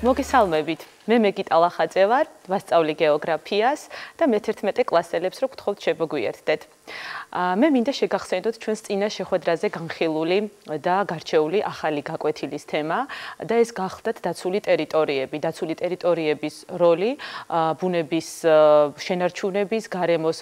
მოგესალმებით. მე მეგიტა ლახაძე ვარ, ვასწავლი გეოგრაფიას და მე-11 კლასელებს რო გთხოვთ შემოგვიერთდეთ. მე მინდა შეგახსენდოთ ჩვენს წინა შეხვედრაზე განხილული და გარჩეული ახალი გაკვეთილის თემა და ეს გახლდათ დაცული ტერიტორიები. დაცული ტერიტორიების როლი ბუნების შენარჩუნების, გარემოს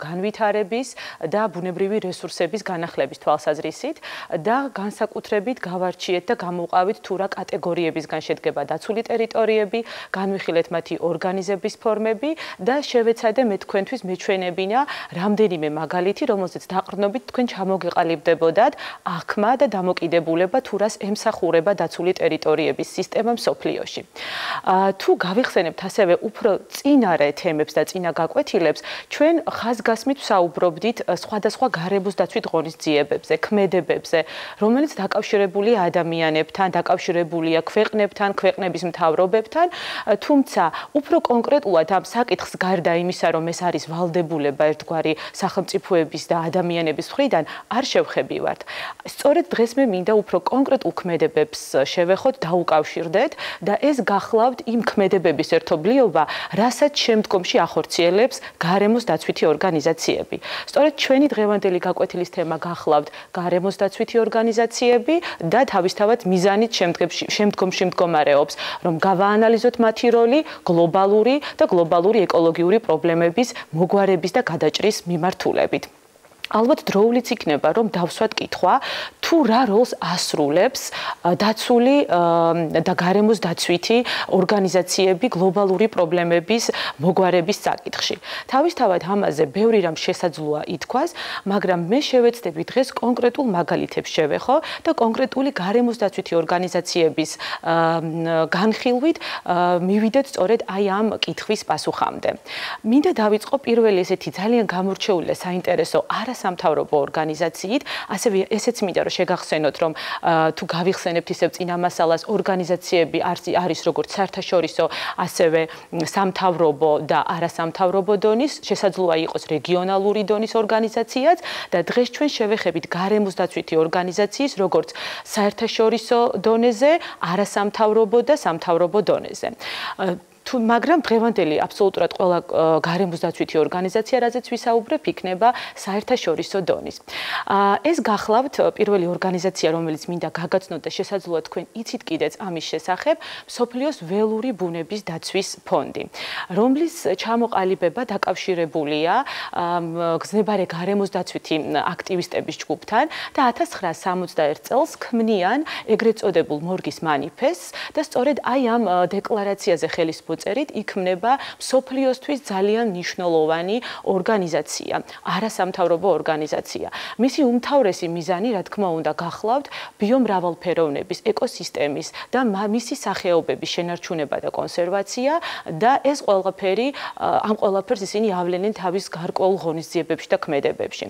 განვითარების და ბუნებრივი რესურსების განახლების თვალსაზრისით და განსაკუთრებით გავარჩიეთ და გამოვყავით თუ რა კატეგორიებისგან შედგება დაცული ტერიტორიები, განვიხილეთ მათი ორგანიზების ფორმები და შევეცადე მე თქვენთვის მეჩვენებინა რამდენიმე მაგალითი, რომელზეც დაყრდნობით თქვენ ჩამოგეყალიბდებოდათ აღქმა და დამოკიდებულება თუ რას ემსახურება დაცული ტერიტორიების სისტემა მსოფლიოში. თუ გავიხსენებთ ასევე უფრო წინარე თემებს და წინა გაკვეთილებს, ჩვენ ხაზგასმით ვსაუბრობდით სხვადასხვა გარემოს დაცვით ღონისძიებებზე, ქმედებებზე, რომელიც დაკავშირებულია ადამიანებთან, დაკავშირებულია ქვეყნებთან, ქვეყნების მთავრობებთან, თუმცა უფრო კონკრეტულად ამ საკითხს გარდა იმისა, რომ ეს არის ვალდებულება ერთგვარი სახელმწიფოების და ადამიანების მხრიდან, არ შევხებივართ. სწორედ დღეს მე მინდა უფრო კონკრეტულ ქმედებებს შევეხოთ, დაუკავშირდეთ და ეს გახლავთ იმ ქმედებების ერთობლიობა, რასაც შემდგომში ახორციელებს გარემოს დაცვითი ორგანიზაციები. სწორედ ჩვენი დღევანდელი გაკვეთილის თემა გახლავთ გარემოს დაცვითი ორგანიზაციები და თავისთავად მიზანით შემდგომში მდგომარეობს, რომ გავაანალიზოთ მათი როლი გლობალური და გლობალური ეკოლოგიური პრობლემების მოგვარების და გადაჭრის მიმართულებით. ალბათ დროულიც იქნება, რომ დავსვათ კითხვა, თუ რა როლს ასრულებს დაცული და გარემოს დაცვითი ორგანიზაციები გლობალური პრობლემების მოგვარების საკითხში. თავისთავად ამაზე ბევრი რამ შესაძლოა ითქვას, მაგრამ მე შევეცდები დღეს კონკრეტულ მაგალითებს შევეხო და კონკრეტული გარემოს დაცვითი ორგანიზაციების განხილვით მივიდეთ სწორედ აი ამ კითხვის პასუხამდე. მინდა დავიწყო პირველი ესეთი ძალიან გამორჩეული და საინტერესო სამთავრობო ორგანიზაციით, ასევე ესეც მინდა რომ შეგახსენოთ, რომ თუ გავიხსენებთ ისევ წინა მასალას, ორგანიზაციები არის როგორც საერთაშორისო, ასევე სამთავრობო და არასამთავრობო დონის, შესაძლოა იყოს რეგიონალური დონის ორგანიზაციაც და დღეს ჩვენ შევეხებით გარემოს დაცვითი ორგანიზაციის როგორც საერთაშორისო დონეზე, არასამთავრობო და სამთავრობო დონეზე. მაგრამ დღევანდელი აბსოლუტურად ყველა გარემოს დაცვითი ორგანიზაცია, რაზეც ვისაუბრებ, იქნება საერთაშორისო დონის. ეს გახლავთ პირველი ორგანიზაცია, რომელიც მინდა გაგაცნოთ და შესაძლოა თქვენ იცით კიდეც ამის შესახებ, მსოფლიოს ველური ბუნების დაცვის ფონდი, რომლის ჩამოყალიბება დაკავშირებულია გზნებარე გარემოს დაცვითი აქტივისტების ჯგუფთან და 1961 წელს ქმნიან ეგრეთ წოდებულ მორგის მანიფესტს და სწორედ აი ამ დეკლარაციაზე ხელისმოწერით იქმნება მსოფლიოსთვის ძალიან მნიშვნელოვანი ორგანიზაცია, არასამთავრობო ორგანიზაცია. მისი უმთავრესი მიზანი, რა თქმა უნდა, გახლავთ ბიომრავალფეროვნების, ეკოსისტემის და მისი სახეობების შენარჩუნება და კონსერვაცია და ეს ყველაფერი ამ ყველაფერს ისინი ავლენენ თავის გარკვეულ ღონისძიებებში და ქმედებებში.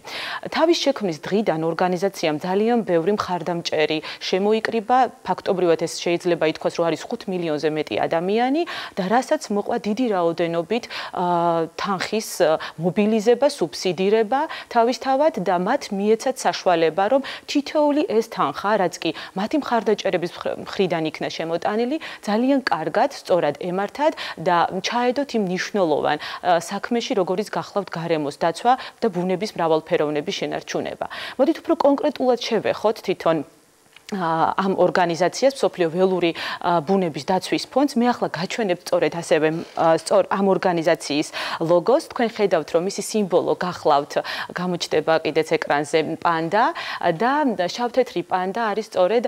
თავის შექმნის დღიდან ორგანიზაციამ ძალიან ბევრი მხარდამჭერი შემოიკრიბა, ფაქტობრივად ეს შეიძლება ითქვას, რომ არის 5 მილიონზე მეტი ადამიანი და რასაც მოყვა დიდი რაოდენობით თანხის მობილიზება, სუბსიდირება თავისთავად და მათ მიეცათ საშუალება, რომ თითოეული ეს თანხა, რაც კი მათი მხარდაჭერების მხრიდან იქნა შემოტანილი, ძალიან კარგად, სწორად ემართათ და ჩაედოთ იმ მნიშვნელოვან საქმეში, როგორიც გახლავთ გარემოს დაცვა და ბუნების მრავალფეროვნების შენარჩუნება. მოდით უფრო კონკრეტულად შევეხოთ თვითონ ამ ორგანიზაციას, მსოფლიო ველური ბუნების დაცვის ფონდს. მე ახლა გაჩვენებთ სწორედ ასევე ამ ორგანიზაციის ლოგოს. თქვენ ხედავთ, რომ მისი სიმბოლო გახლავთ, გამოჩნდება კიდეც ეკრანზე პანდა და შავთეთრი პანდა არის სწორედ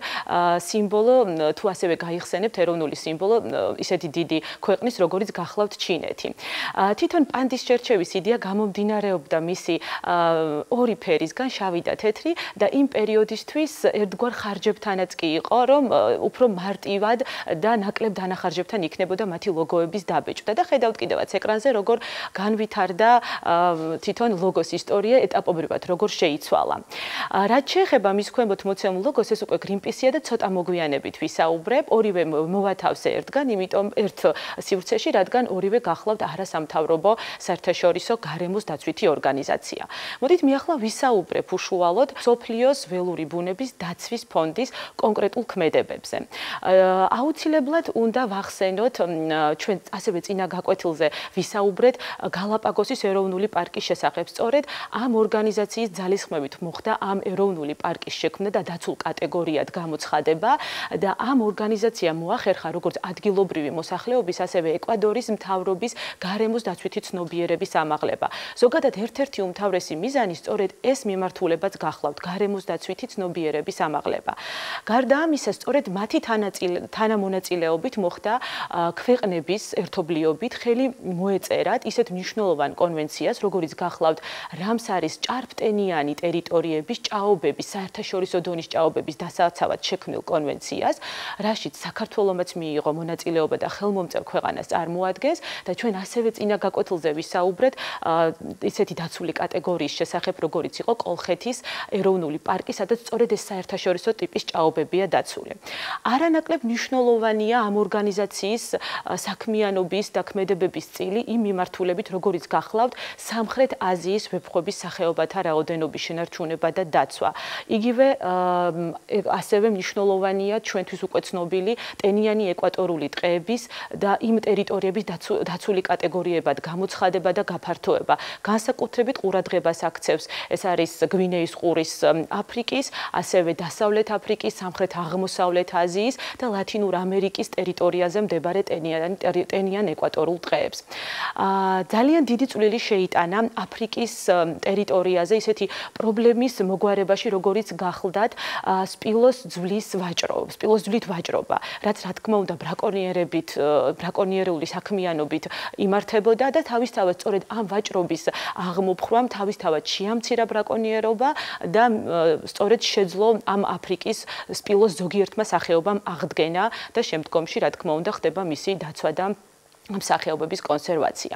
სიმბოლო, თუ ასევე გაიხსენებთ ეროვნული სიმბოლო ისეთი დიდი ქვეყნის, როგორიც გახლავთ ჩინეთი. თვითონ პანდის შერჩევის იდეა გამომდინარეობდა მისი ორი ფერისგან, შავი და თეთრი და იმ პერიოდისთვის ერთგვარ ხარჯებთანაც კი იყო, რომ უფრო მარტივად და ნაკლებ დანახარჯებთან იქნებოდა მათი ლოგოების დაბეჭდა და ხედავთ კიდევაც ეკრანზე, როგორ განვითარდა თვითონ ლოგოს ისტორია ეტაპობრივად, როგორ შეიცვალა. რაც შეეხება მის ქვემოთ მოცემულ ლოგოს, ეს უკვე Greenpeace-ია და ცოტა მოგვიანებით ვისაუბრებ, ორივე მოვათავსე ერთგან, იმიტომ ერთ სივრცეში, რადგან ორივე გახლავთ არასამთავრობო საერთაშორისო გარემოს დაცვითი ორგანიზაცია. მოდით მე ახლა ვისაუბრებ უშუალოდ მსოფლიოს ველური ბუნების დაცვის ფონდის გადის კონკრეტულ ქმედებებზე. აუცილებლად უნდა ვახსენოთ ჩვენ ასევე წინა გაკვეთილზე ვისაუბრეთ გალაპაგოსის ეროვნული პარკის შესახებ. სწორედ ამ ორგანიზაციის ძალისხმევით მოხდა ამ ეროვნული პარკის შექმნა და დაცულ კატეგორიად გამოცხადება და ამ ორგანიზაციამ მოახერხა როგორც ადგილობრივი მოსახლეობის, ასევე ეკვადორის მთავრობის გარემოს დაცვითი ცნობიერების ამაღლება. ზოგადად ერთ-ერთი უმთავრესი მიზანი სწორედ ეს მიმართულებაც გახლავთ, გარემოს დაცვითი ცნობიერების ამაღლება. გარდა ამისა, სწორედ მათი თანამონაწილეობით მოხდა ქვეყნების ერთობლიობით ხელი მოეწერათ ისეთ მნიშვნელოვან კონვენციას, როგორიც გახლავთ რამსარის ჭარბტენიანი ტერიტორიების ჭაობების, საერთაშორისო დონის ჭაობების დასაცავად შექმნილ კონვენციას, რაშიც საქართველომაც მიიღო მონაწილეობა და ხელმომწერ ქვეყანას წარმოადგენს და ჩვენ ასევე წინა გაკვეთილზე ვისაუბრეთ ისეთი დაცული კატეგორიის შესახებ, როგორიც იყო კოლხეთის ეროვნული პარკი, სადაც სწორედ ეს საერთაშორისო ტიპის ჭაობებია დაცული. არანაკლებ მნიშვნელოვანია ამ ორგანიზაციის საქმიანობის და ქმედებების წილი იმ მიმართულებით, როგორიც გახლავთ სამხრეთ აზიის ვეფხვების სახეობათა რაოდენობის შენარჩუნება და დაცვა. იგივე ასევე მნიშვნელოვანია ჩვენთვის უკვე ცნობილი ტენიანი ეკვატორული ტყეების და იმ ტერიტორიების დაცული კატეგორიებად გამოცხადება და გაფართოება. განსაკუთრებით ყურადღებას აქცევს ეს არის გვინეის ყურის აფრიკის, ასევე დასავლეთ აფრიკის, სამხრეთ აღმოსავლეთ აზიის და ლათინურ ამერიკის ტერიტორიაზე მდებარე ტენიან ეკვატორულ ტყეებს. ძალიან დიდი წვლილი შეიტანა აფრიკის ტერიტორიაზე ისეთი პრობლემის მოგვარებაში, როგორიც გახლდათ სპილოს ძვლით ვაჭრობა, რაც რა თქმა უნდა ბრაკონიერული საქმიანობით იმართებოდა და თავისთავად სწორედ ამ ვაჭრობის აღმოფხვამ თავისთავად შეამცირა ბრაკონიერობა და სწორედ შეძლო ამ აფრიკის სპილოს ზოგიერთმა სახეობამ აღდგენა და შემდგომში რა თქმა უნდა ხდება მისი დაცვა და სახეობების კონსერვაცია.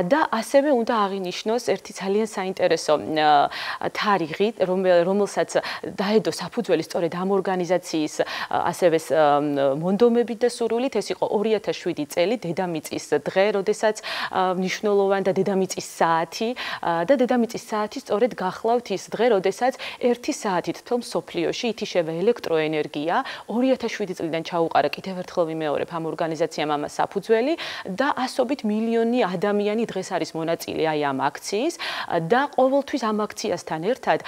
და ასევე უნდა აღინიშნოს ერთი ძალიან საინტერესო თარიღი, რომელსაც დაედო საფუძველი სწორედ ამ ორგანიზაციის ასევე მონდომებით და სურვილით, ეს იყო 2007 წელი, დედამიწის დღე, როდესაც მნიშვნელოვანი და დედამიწის საათი და დედამიწის საათი სწორედ გახლავთ ის დღე, როდესაც 1 საათით თითო მსოფლიოში ითიშება ელექტროენერგია. 2007 წლიდან ჩაუყარა კიდევ ერთხელ ვიმეორებ ამ ორგანიზაციამ ამას საფუძველი და ასობით მილიონი ადამიანი დღეს არის მონაწილე აი ამ აქციის და ყოველთვის ამ აქციასთან ერთად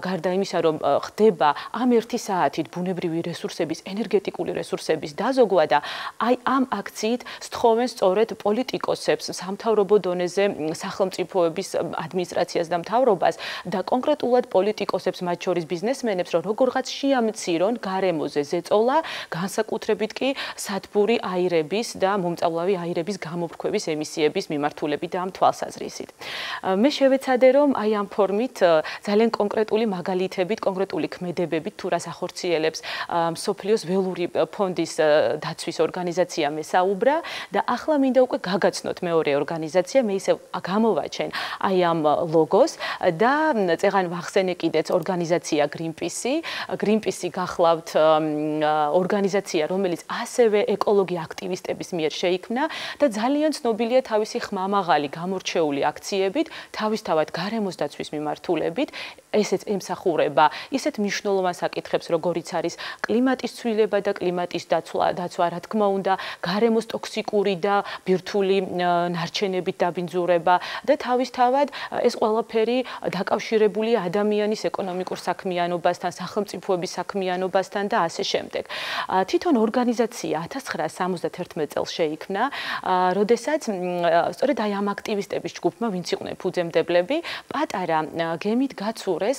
გარდა იმისა, რომ ხდება ამ 1 საათით ბუნებრივი რესურსების, ენერგეტიკული რესურსების დაზოგვა და აი ამ აქციით სთხოვენ სწორედ პოლიტიკოსებს, სამთავრობო დონეზე სახელმწიფოების ადმინისტრაციას და მთავრობას და კონკრეტულად პოლიტიკოსებს, მათ შორის ბიზნესმენებს, რომ როგორღაც შეამცირონ გარემოზე ზეწოლა, განსაკუთრებით კი სათბური აირების და მომწავლავი აირების გამოფრქვევის ემისიების მიმართულებით და ამ თვალსაზრისით. მე შევეცადე, რომ აი ამ ფორმით ძალიან კონკრეტული მაგალითებით, კონკრეტული ქმედებებით თუ რას ახორციელებს მსოფლიოს ველური ფონდის დაცვის ორგანიზაცია მესაუბრა და ახლა მინდა უკვე გაგაცნოთ მეორე ორგანიზაცია, მე ისევ გამოვაჩენ აი ამ ლოგოს და წეღან ვახსენე კიდეც ორგანიზაცია Greenpeace გახლავთ ორგანიზაცია, რომელიც ასევე ეკოლოგი აქტივისტების მიერ შეიქმნა და ძალიან ცნობილია თავისი ხმამაღალი გამორჩეული აქციებით, თავისთავად გარემოს დაცვის მიმართულებით, ესეც ემსახურება ისეთ მნიშვნელოვან საკითხებს, როგორიც არის კლიმატის ცვლილება და კლიმატის დაცვა, რა თქმა უნდა, გარემოს ტოქსიკური და ბირთვული ნარჩენებით დაბინძურება და თავისთავად ეს ყველაფერი დაკავშირებულია ადამიანის ეკონომიკურ საქმიანობასთან, სახელმწიფოების საქმიანობასთან და ასე შემდეგ. თვითონ ორგანიზაცია 1971 წელს შეიქმნა, როდესაც სწორედ აი ამ აქტივისტების ჯგუფმა, ვინც იყვნენ ფუძემდებლები, პატარა გემით გაცურეს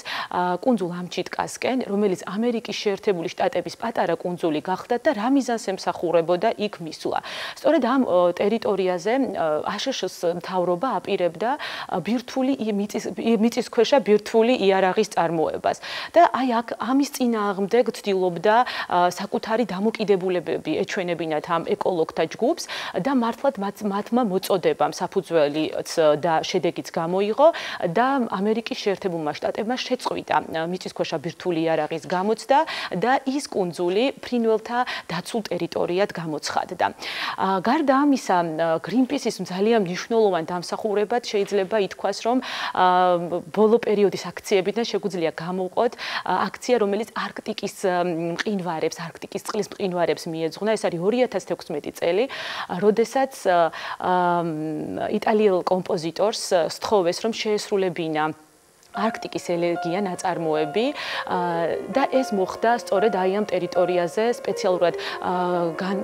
კუნძულ ამჩიტკასკენ, რომელიც ამერიკის შეერთებული შტატების პატარა კუნძული გახდათ და რა მიზანს ემსახურებოდა იქ მისვლა. სწორედ ამ ტერიტორიაზე აშშ-ს მთავრობა აპირებდა მიწისქვეშა ბირთვული იარაღის წარმოებას და აი აქ ამის წინააღმდეგ ცდილობდა საკუთარი დამოკიდებულებები ეჩვენებინათ ამ ეკოლოგთა ჯგუფს და მართლაც მათმა მოწოდებამ საფუძველიც და შედეგიც გამოიღო და ამერიკის შეერთებულმა შტატებმა მას შეწყვიტა მიწისქვეშა ბირთვული იარაღის გამოცდა და ის კუნძული ფრინველთა დაცულ ტერიტორიად გამოცხადდა. გარდა ამისა, Greenpeace-ის ძალიან მნიშვნელოვან დამსახურებად შეიძლება ითქვას, რომ ბოლო პერიოდის აქციებიდან შეგვიძლია გამოვყოთ აქცია, რომელიც არქტიკის მყინვარებს, არქტიკის წყლის მყინვარებს მიეძღვნა. ეს არის 2016 წელი, როდესაც იტალიელ კომპოზიტორს სთხოვეს, რომ შეესრულებინა არქტიკის ელეგია ნაწარმოები და ეს მოხდა სწორედ აი ამ ტერიტორიაზე, სპეციალურად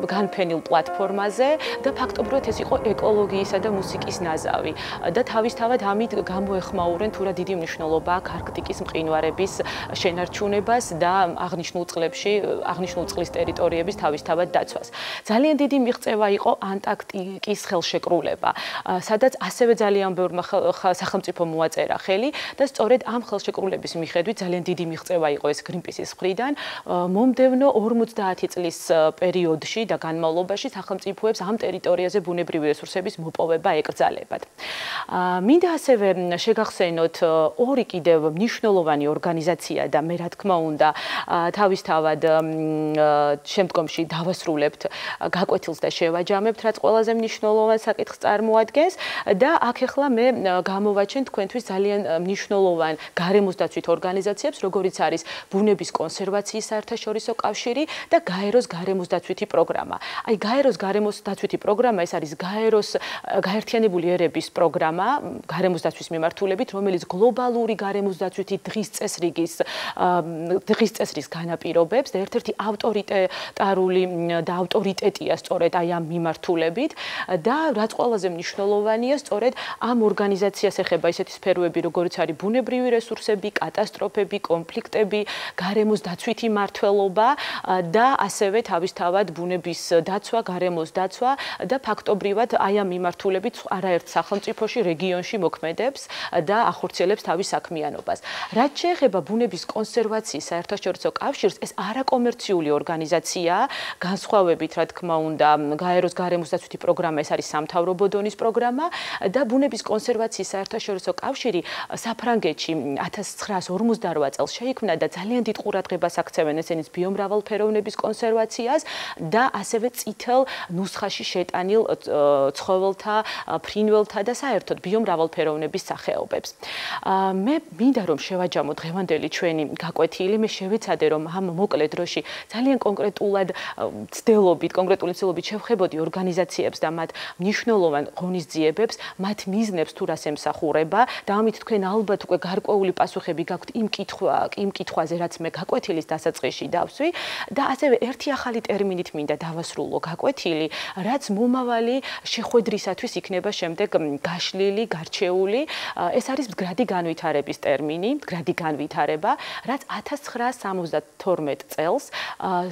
განფენილ პლატფორმაზე და ფაქტობრივად ეს იყო ეკოლოგიისა და მუსიკის ნაზავი და თავისთავად ამით გამოეხმაურენ თუ რა დიდი მნიშვნელობა აქვს არქტიკის მყინვარების შენარჩუნებას და აღნიშნულ წყლის ტერიტორიების თავისთავად დაცვას. ძალიან დიდი მიღწევა იყო ანტარქტიკის ხელშეკრულება, სადაც ასევე ძალიან ბევრმა სახელმწიფომ მოაწერა ხელი და სწორედ ამ ხელშეკრულების მიხედვით ძალიან დიდი მიღწევა იყო ეს Greenpeace-ის მხრიდან. მომდევნო 50 წლის პერიოდში და განმავლობაში სახელმწიფოებს ამ ტერიტორიაზე ბუნებრივი რესურსების მოპოვება ეკრძალებათ. მინდა ასევე შეგახსენოთ ორი კიდევ მნიშვნელოვანი ორგანიზაცია და მე რა თქმა უნდა თავისთავად შემდგომში დავასრულებთ გაკვეთილს და შევაჯამებთ, რაც ყველაზე მნიშვნელოვან საკითხს წარმოადგენს და აქ ახლა მე გამოვაჩენ თქვენთვის ძალიან მნიშვნელოვან გარემოსდაცვით ორგანიზაციებს, როგორიც არის ბუნების კონსერვაციის საერთაშორისო კავშირი და გაეროს გარემოსდაცვითი პროგრამა. აი გაეროს გარემოსდაცვითი პროგრამა ეს არის გაეროს გაერთიანებული ერების პროგრამა გარემოსდაცვის მიმართულებით, რომელიც გლობალური გარემოსდაცვითი დღის წესრის განაპირობებს და ერთ-ერთი ავტორიტეტარული და ავტორიტეტია სწორედ აი ამ მიმართულებით და რაც ყველაზე მნიშვნელოვანია, სწორედ ამ ორგანიზაციას ეხება ისეთი სფეროები, როგორიც არის ბუნებრივი რესურსები, კატასტროფები, კონფლიქტები, გარემოს დაცვითი მმართველობა და ასევე თავისთავად ბუნების დაცვა, გარემოს დაცვა და ფაქტობრივად აი ამ მიმართულებით არაერთ სახელმწიფოში, რეგიონში მოქმედებს და ახორციელებს თავის საქმიანობას. რაც შეეხება ბუნების კონსერვაციის საერთაშორისო კავშირს, ეს არაკომერციული ორგანიზაციაა, განსხვავებით, რა თქმა უნდა, გაეროს გარემოს დაცვითი პროგრამა, ეს არის სამთავრობო დონის პროგრამა და ბუნების კონსერვაციის საერთაშორისო კავშირი საფრანგეთში 1958 წელს შეიქმნა და ძალიან დიდ ყურადღებას აქცევენ ესენის ბიომრავალფეროვნების კონსერვაციას და ასევე წითელ ნუსხაში შეტანილ ცხოველთა, ფრინველთა და საერთოდ ბიომრავალფეროვნების სახეობებს. მე მინდა რომ შევაჯამო დღევანდელი ჩვენი გაკვეთილი, მე შევეცადე რომ ამ მოკლე დროში ძალიან კონკრეტული მცდელობით შევხედოდი ორგანიზაციებს და მათ მნიშვნელოვან ღონისძიებებს, მათ მიზნებს თუ რას ემსახურება და ამით თქვენ ალბათ უკვე გარკვეული პასუხები გაქვთ იმ კითხვაზე, რაც მე გაკვეთილის დასაწყისში დავსვი და ასევე ერთი ახალი ტერმინით მინდა დავასრულო გაკვეთილი, რაც მომავალი შეხვედრისათვის იქნება შემდეგ გაშლილი, გარჩეული. ეს არის მდგრადი განვითარების ტერმინი, მდგრადი განვითარება, რაც 1972 წელს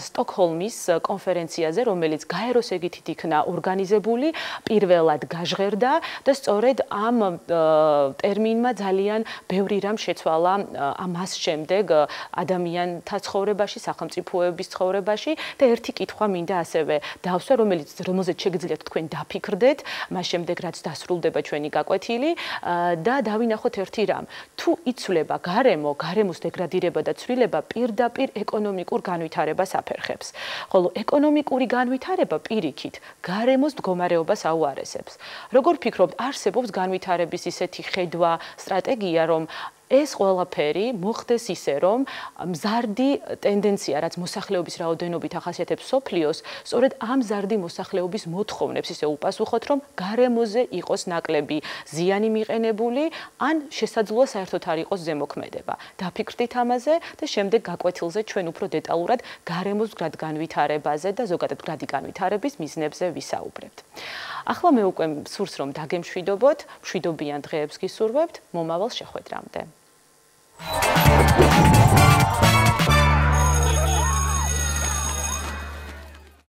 სტოკჰოლმის კონფერენციაზე, რომელიც გაეროს ეგითით იქნა ორგანიზებული, პირველად გაჟღერდა და სწორედ ამ ტერმინმა ძალიან ბევრი რამ შეცვალა ამას შემდეგ ადამიანთა ცხოვრებაში, სახელმწიფოების ცხოვრებაში და ერთი კითხვა მინდა ასევე დავსვა, რომელზეც შეგიძლიათ თქვენ დაფიქრდეთ, მას შემდეგ რაც დასრულდება ჩვენი გაკვეთილი და დავინახოთ ერთი რამ. თუ იცვლება გარემოს დეგრადირება და ცვლილება პირდაპირ ეკონომიკურ განვითარებას აფერხებს. ხოლო ეკონომიკური განვითარება პირიქით გარემოს მდგომარეობას აუარესებს. როგორ ფიქრობთ, არსებობს განვითარების ისეთი ხედვა, სტრატეგია, რომ ეს ყველაფერი მოხდეს ისე, რომ მზარდი ტენდენცია, რაც მოსახლეობის რაოდენობით ახასიათებს სოფლიოს, სწორედ ამ მზარდი მოსახლეობის მოთხოვნებს ისე უპასუხოთ, რომ გარემოზე იყოს ნაკლები ზიანი მიყენებული, ან შესაძლოა საერთოდ არ იყოს ზემოქმედება. დაფიქრდით ამაზე და შემდეგ გაკვეთილზე ჩვენ უფრო დეტალურად გარემოს მდგრად განვითარებაზე და ზოგადად მდგრადი განვითარების მიზნებზე ვისაუბრებთ. ახლა მე უკვე სურს რომ დაგემშვიდობოთ, მშვიდობიან დღეებს გისურვებთ, მომავალ შეხვედრამდე.